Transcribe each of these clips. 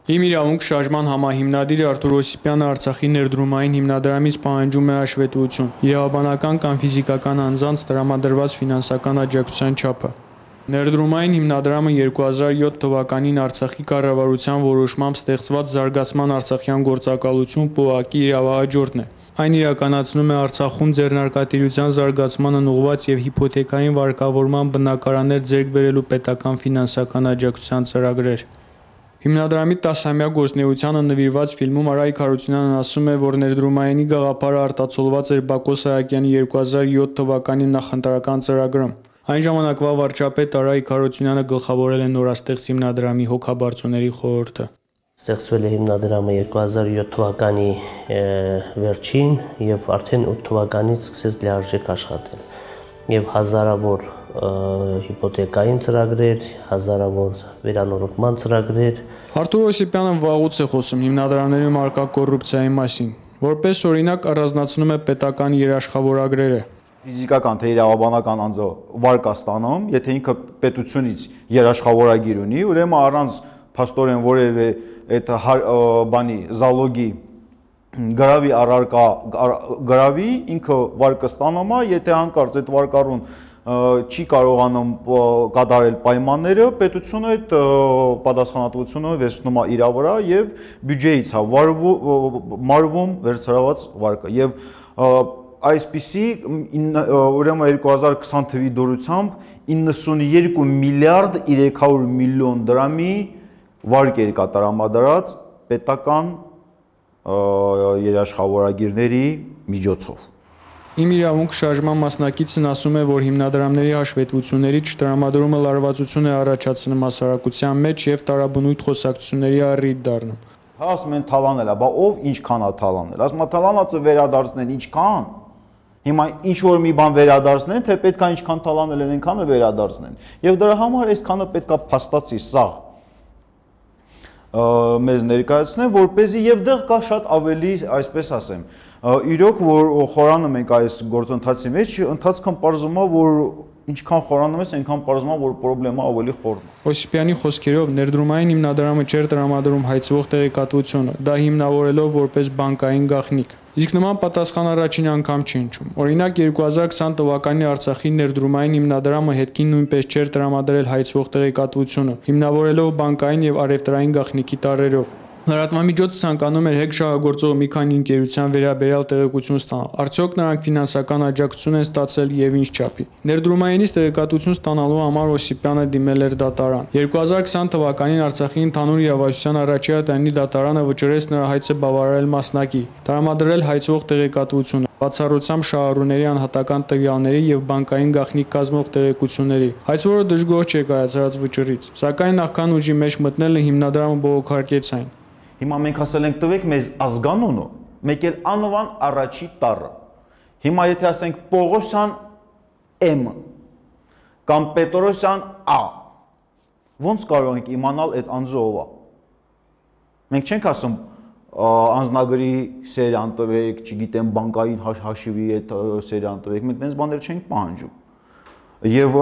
Իմ իրավունք շարժման համահիմնադիր Արթուր Օսիպյանը Արցախի ներդրումային հիմնադրամից պահանջում է հաշվետվություն, իրավաբանական կամ ֆիզիկական անձանց տրամադրված ֆինանսական աջակցության չափը։ Ներդրումային հիմնադրամը 2007 թվականին Արցախի կառավարության որոշմամբ ստեղծված Զարգացման արցախյան գործակալություն ՊՕԱԿ-ի իրավահաջորդն է։ Այն իրականացնում է Արցախում ձեռնարկատիրության զարգացմանն ուղղված եւ հիփոթեքային վարկավորման բնակարաններ ձեռք բերելու պետական ֆինանսական աջակցության ծրագրեր։ Հիմնադրամի 10-ամյա գործունեությանը նվիրված ֆիլմում Արայիկ Հարությունյանն ասում է, որ ներդրումայինի գաղափարը արտացոլված էր Բակո Սահակյանի 2007 թվականի նախընտրական ծրագրում։ Այն ժամանակվա վարչապետ Արայիկ Հարությունյանը գլխավորել է նորաստեղծ հիմնադրամի հոգաբարձուների խորհուրդը։ Ստեղծվել է հիմնադրամը 2007 թվականի վերջին եւ արդեն 8 թվականից սկսեց լիարժեք աշխատել։ Եվ հազարավոր հիփոթեկային ծրագրեր, հազարավոր վերանորոգման ծրագրեր։ Արթուր Օսիպյանը վաղուց է խոսում հիմնադրամների մարկա կոռուպցիայի մասին, որպես օրինակ առանձնացնում է պետական երաշխավորագրերը։ Ֆիզիկական թե իրավաբանական անձը վարկ է ստանում, եթե ինքը պետությունից երաշխավորագիր ունի, ուրեմն առանց փաստորեն որևէ այդ բանի զալոգի գրավի առարկա գրավի ինքը վարկը ստանում է, եթե հանկարծ այդ վարկառուն չի կարողանում կատարել պայմանները, պետությունը այդ պատասխանատվությունը վերցնում է իր վրա եւ բյուջեից է մարվում վերցրված վարկը եւ այսպիսի ուրեմն 2020 թվականի դուրսությամբ 92 միլիարդ 300 միլիոն դրամի վարկ էր կատարամադրած պետական երաշխավորագիրների միջոցով։ Իմ իրավունք շարժման մասնակիցն ասում է, որ հիմնադրամների հաշվետվությունների չտրամադրումը լարվածություն է առաջացնում հասարակության մեջ եւ տարաբնույթ խոսակցությունների առիթ դառնում։ Հա ասում են թալանել է, բա ով ինչքան է թալանել։ Ասում է թալանածը վերադարձնեն ինչքան։ Հիմա ինչ որ մի բան վերադարձնեն, թե պետքա ինչքան թալանել են, այնքանը վերադարձնեն։ Եվ դրա համար այսքանը պետքա փաստացի սաղ մեզ ներկայացնեն, որպեսզի եւ դեռ կա շատ ավելի, այսպես ասեմ, իրոք որ խորանում ենք այս գործընթացի մեջ, ընթացքն պարզվում է, որ ինչքան խորանում ես, այնքան պարզվում է, որ խնդրեմը ավելի խորն է։ Օսիպյանի խոսքերով ներդրումային հիմնադրամը չէր տրամադրում հայցվող տեղեկատվությունը, դա հիմնավորելով որպես բանկային գաղտնիք։ Իսկ նման պատասխան առաջին անգամ չի հնչում։ Օրինակ 2020 թվականի Արցախի ներդրումային հիմնադրամը հետքին նույնպես չէր տրամադրել հայցվող տեղեկատվությունը, հիմնավորելով բանկային եւ առևտրային գաղտնիքի տարրերով։ Լրատվամիջոցը ցանկանում էր հեգ շահագործող մի քանի ընկերության վերաբերյալ տեղեկություն ստանալ։ Արդյոք նրանք ֆինանսական աջակցություն են ստացել եւ ինչ չափի։ Ներդրումայինից տեղեկատվություն ստանալու համար Օսիպյանը դիմել էր դատարան։ 2020 թվականին Արցախի ընդհանուր իրավասության առաջին տանի դատարանը վճռեց նրա հայցը բավարարել մասնակի, տրամադրել հայցվող տեղեկատվությունը, բացառությամբ շահառուների անհատական տվյալների եւ բանկային գաղտնիք կազմող տեղեկությունների։ Հայցվորը դժգոհ չէ կայացրած վճռից, սակայն նախքան ուժի մեջ մտնելը հիմնադրամը բողոքարկեց այն։ Հիմա մենք ասել ենք տվեք մեզ ազգանունը, մեկ էլ անվան առաջի տառը։ Հիմա եթե ասենք Պողոսյան M կամ Պետրոսյան A, ոնց կարող ենք իմանալ այդ անձը ով է։ Մենք չենք ասում անձնագրի սերիան տվեք, չգիտեմ, բանկային հաշիվի այդ սերիան տվեք, մենք դες բաներ չենք պահանջում։ Եվ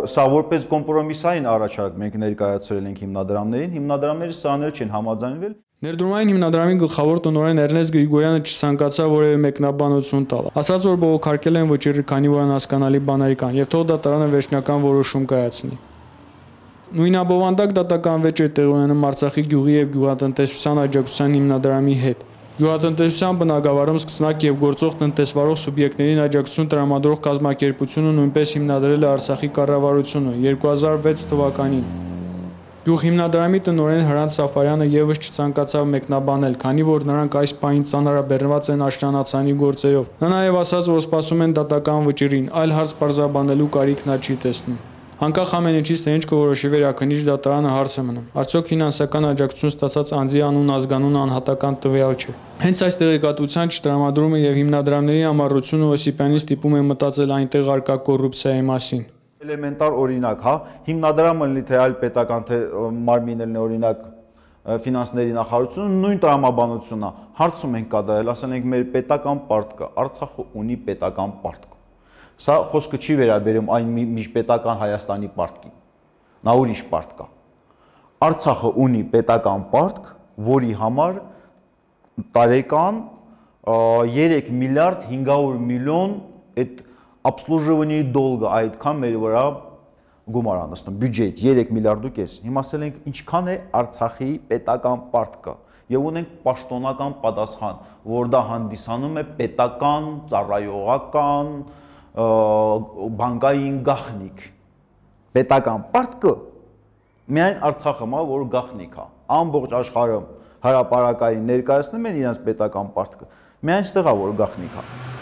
սա որպես կոմպրոմիսային առաջարկ մենք ներկայացրել ենք հիմնադրամներին, հիմնադրամները սրաներ չեն համաձայնվել։ Ներդրումային հիմնադրամի գլխավոր տնօրեն Էրնեստ Գրիգորյանը չցանկացավ որևէ մեկնաբանություն տալ, ասաց, որ բողոքարկել են վճիռը, քանի որ անհասկանալի բաներ կան, եւ թող դատարանը վերջնական որոշում կայացնի։ Նույնաբովանդակ դատական վեճ է տեղի ունենում Արցախի գյուղի եւ գյուղատնտեսության աջակցության հիմնադրամի հետ։ Գյուղատնտեսության բնագավառում սկսնակ եւ գործող տնտեսվարող սուբյեկտներին աջակցություն տրամադրող կազմակերպությունը նույնպես հիմնադրել է Արցախի կառավարությունը 2006 թվականին։ Գյուղ հիմնադրամի տնօրեն Հրանտ Սաֆարյանը եւս չցանկացավ մեկնաբանել, քանի որ նրանք այս պահին ծանրաբեռնված են աշնանացանի գործերով։ Նա նաեւ ասաց, որ սպասում են դատական վճռին, այլ հարց պարզաբանելու կարիք նա չի տեսնում։ Անկախ ամեն ինչից թե ինչ կորոշի վերաքննիչ դատարանը հարց է մնում։ Արդյոք ֆինանսական աջակցություն ստացած անձի անուն, ազգանուն, անհատական տվյալ չէ։ Հենց այս տեղեկատվության չտրամադրումը եւ հիմնադրամների ամառությունը Օսիպյանին ստիպում է մտածել այնտեղ արկա կոռուպցիայի մասին։ Էլեմենտար օրինակ, հա, հիմնադրամը լինի թե այլ պետական թե մարմին լինի օրինակ ֆինանսների նախարարությունը նույն տրամաբանությունն է։ Հարցում ենք կատարել, ասել ենք մեր պետական պարտքը, Արցախը ունի պետական պարտք։ Սա խոսքը չի վերաբերում այն միջպետական Հայաստանի պարտքին։ Նա ուրիշ պարտ կա։ Արցախը ունի պետական պարտք, որի համար տարեկան 3 միլիարդ 500 միլիոն այդ обслуживание долга այդքան մեր վրա գումար անցնում, բյուջետ 3 միլիարդ ու կես։ Հիմա ասել ենք ինչքան է Արցախի պետական պարտքը եւ ունենք պաշտոնական պատասխան, որ դա հանդիսանում է պետական, ծառայողական, բանկային գաղտնիք։ Պետական պարտքը միայն Արցախը մա որ գաղտնիք է։ Ամբողջ աշխարհում հրապարակային ներկայացնում են իրենց պետական պարտքը։ Միայն այստեղ է որ գաղտնիք է։